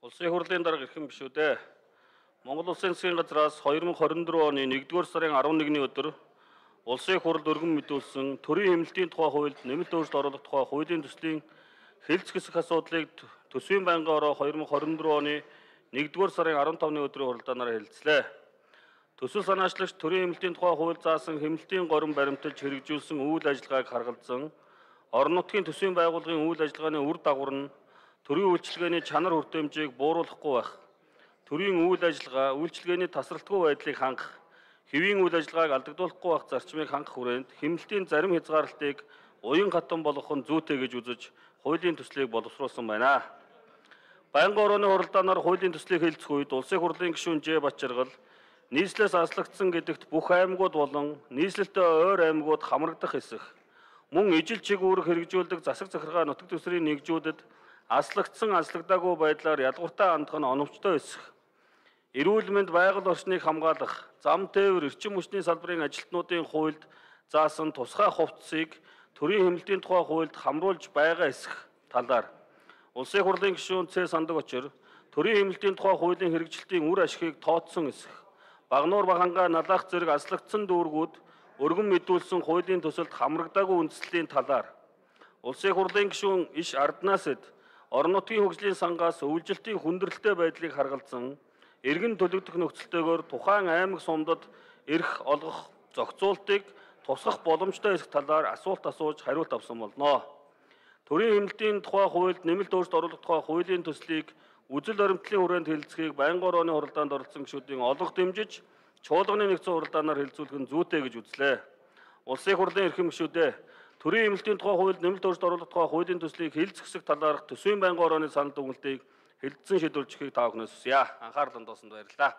Улсын хурлын дарга эрхэм гишүүдээ Монгол Улсын засгийн газраас 2024 оны 1-р сарын 11-ний өдөр Улсын хурл өргөн мэдүүлсэн төрийн хэмнэлтийн тухай хуульд нэмэлт өөрчлөлт оруулах тухай хуулийн төслийн хэлц хэсэх асуудлыг төсвийн байнгын ороо 2024 оны 1-р сарын 15-ны өдрийн хуралдаанаар хэлэлцлээ. Төсөл санаачлагч төрийн хэмнэлтийн тухай хууль заасан хэмнэлтийн горин баримталж хэрэгжүүлсэн үйл ажиллагааг харгалзан орон нутгийн төсвийн байгууллагын үйл ажиллагааны үр дагавар нь төрийн үйлчилгээний чанар хүртээмжийг бууруулахгүй байх, төрийн үйл ажиллагаа, үйлчилгээний тасралтгүй байдлыг хангах, хэвийн үйл ажиллагааг алдагдуулахгүй байх зарчмыг хангах хүрээнд хэмнэлтийн зарим хязгаарлалтыг уян хатан болгох нь зүйтэй гэж үзэж хуулийн төслийг боловсруулсан байна. Байнгын орооны хуралдаанаар хуулийн төслийг хэлцэх үед Улсын хурлын гишүүн Ж. Бачаргал нийслэлээс аслагдсан гэдэгт бүх аймагуд болон нийслэлтэй ойр аймагуд хамрагдах хэсэх, мөн ижил чиг үүрэг хэрэгжүүлдэг засаг захиргаа нутаг дэвсгэрийн нэгжүүдэд аслагдсан аслагдаагүй байдлаар ядгууртай хандах нь оновчтой эсэх, эрүүл мэнд байгаль орчныг хамгаалах, зам тээвэр эрчим хүчний салбарын ажилтнуудын хуульд заасан тусгай хувцсыг төрийн хэмнэлтийн тухай хуульд хамруулж байгаа эсэх талаар Улсын хурлын гишүүн Ц. Сандаг Очир төрийн хэмнэлтийн тухай хуулийн хэрэгжилтийн үр ашигыг тооцсон эсэх, Багнуур Багангаа налаах зэрэг аслагдсан дүүргүүд өргөн мэдүүлсэн хуулийн төсөлд хамрагдаагүй үндэслэлийн талаар Улсын хурлын гишүүн Иш Арднаасэд орон нутгийн хөгжлийн сангаас өвлжилтийн хүндрэлтэй байдлыг харгалзан эргэн төлөгдөх нөхцөлтэйгээр тухайн аймаг сумдад эрх олгох зохицуултыг тусгах боломжтой эсэх талаар асуулт асууж хариулт авсан болно. Төрийн хэмнэлтийн тухай хуульд нэмэлт өөрчлөлт оруулах тухай хуулийн төслийг үзэл баримтлалын хүрээнд хэлэлцэхийг байнгын орооны хуралдаанд оролцсон гишүүдийн олонх дэмжиж чуулганы нэгдсэн хуралдаанаар хэлэлцүүлэх нь зүйтэй гэж үзлээ. Улсын хурлын эрхэм гишүүдээ төрийн хэмнэлтийн тухай хуульд нэмэлт өөрчлөлт оруулах тухай хуулийн төслийг хэлэлцэх талаарх төсвийн байнгын орооны санал дүгнэлтийг хэлэлцэн шийдвэрлэхийг та бүхнээс хүсье. Анхаарал хандуулсанд баярлалаа.